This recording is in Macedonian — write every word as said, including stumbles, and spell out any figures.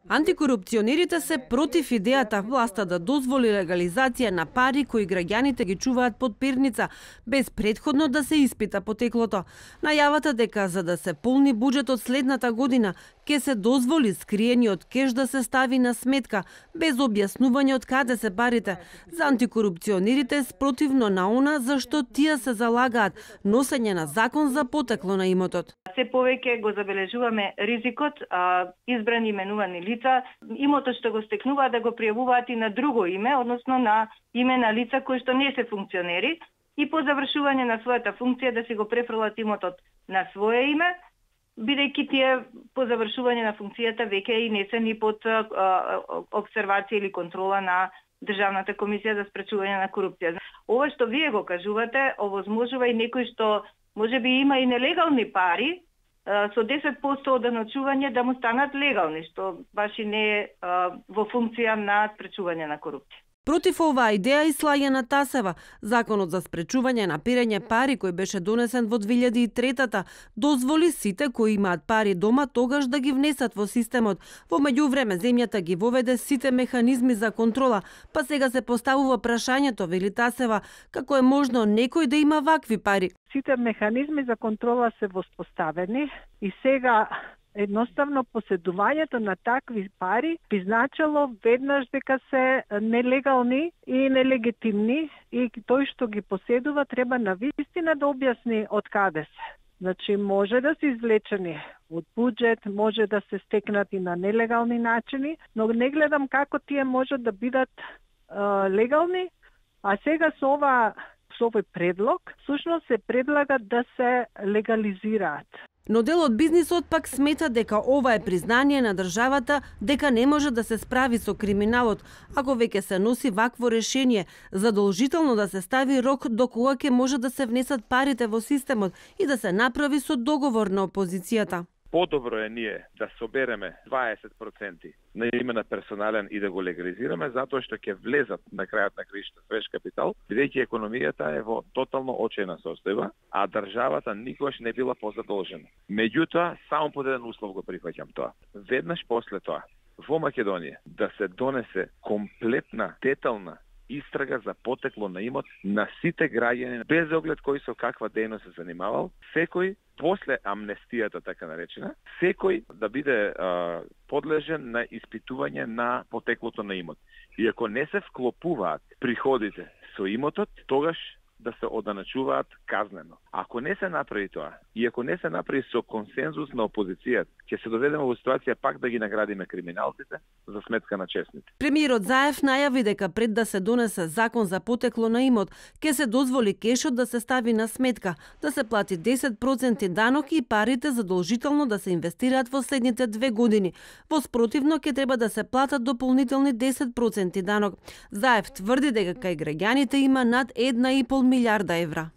Антикорупционерите се против идејата власта да дозволи легализација на пари кои граѓаните ги чуваат под перница, без претходно да се испита потеклото. Најавата дека за да се полни буџетот следната година, ќе се дозволи скриениот кеш да се стави на сметка, без објаснување од каде се парите. За антикорупционерите спротивно на она зашто тие се залагаат носење на закон за потекло на имотот. Се повеќе го забележуваме ризикот, а, избрани именувани лица, имотот што го стекнуваат да го пријавуваат и на друго име, односно на име на лица кои што не се функционери, и по завршување на својата функција да се го префрлат имотот на свое име, бидејќи тие по завршување на функцијата веќе и несени под а, обсервација или контрола на Државната комисија за спречување на корупција. Ова што вие го кажувате, овозможува и некој што може би има и нелегални пари, со десет проценти одначување да му станат легални, што баш и не е во функција на спречување на корупција. Против оваа идеја и Слајана Тасева, законот за спречување на перење пари кој беше донесен во две илјади и трета, дозволи сите кои имаат пари дома тогаш да ги внесат во системот. Во меѓувреме земјата ги воведе сите механизми за контрола, па сега се поставува прашањето, вели Тасева, како е можно некој да има вакви пари. Сите механизми за контрола се воспоставени и сега едноставно поседувањето на такви пари би значило веднаш дека се нелегални и нелегитимни и тој што ги поседува треба навистина да објасни од каде се. Значи може да се извлечени од буџет, може да се стекнат и на нелегални начини, но не гледам како тие можат да бидат е, легални, а сега со ова со овој предлог всушност се предлага да се легализираат. Но дел од бизнисот пак смета дека ова е признание на државата дека не може да се справи со криминалот, ако веќе се носи вакво решение, задолжително да се стави рок до кога ќе може да се внесат парите во системот и да се направи со договор на опозицијата. Подобро е ние да собереме дваесет проценти на име на персонален и да го легализираме, затоа што ќе влезат на крајот на криштата свеж капитал, бидејќи економијата е во тотално очајна состојба, а државата никогаш не била позадолжена. Меѓутоа, само под еден услов го прифаќам тоа. Веднаш после тоа, во Македонија да се донесе комплетна, детална истрага за потекло на имот на сите граѓани, без оглед кој со каква дејност се занимавал, секој после амнестијата, така наречена, секој да биде а, подлежен на испитување на потеклото на имот. И ако не се вклопуваат приходите со имотот, тогаш да се оданачуваат казнено. Ако не се направи тоа, и ако не се направи со консензус на опозицијата, ќе се доведеме во ситуација пак да ги наградиме криминалците за сметка на честните. Премиерот Заев најави дека пред да се донесе закон за потекло на имот, ќе се дозволи кешот да се стави на сметка, да се плати десет проценти данок и парите задолжително да се инвестираат во следните две години. Во спротивно ќе треба да се платат дополнителни десет проценти данок. Заев тврди дека кај граѓаните има над една и пол милијарда евра.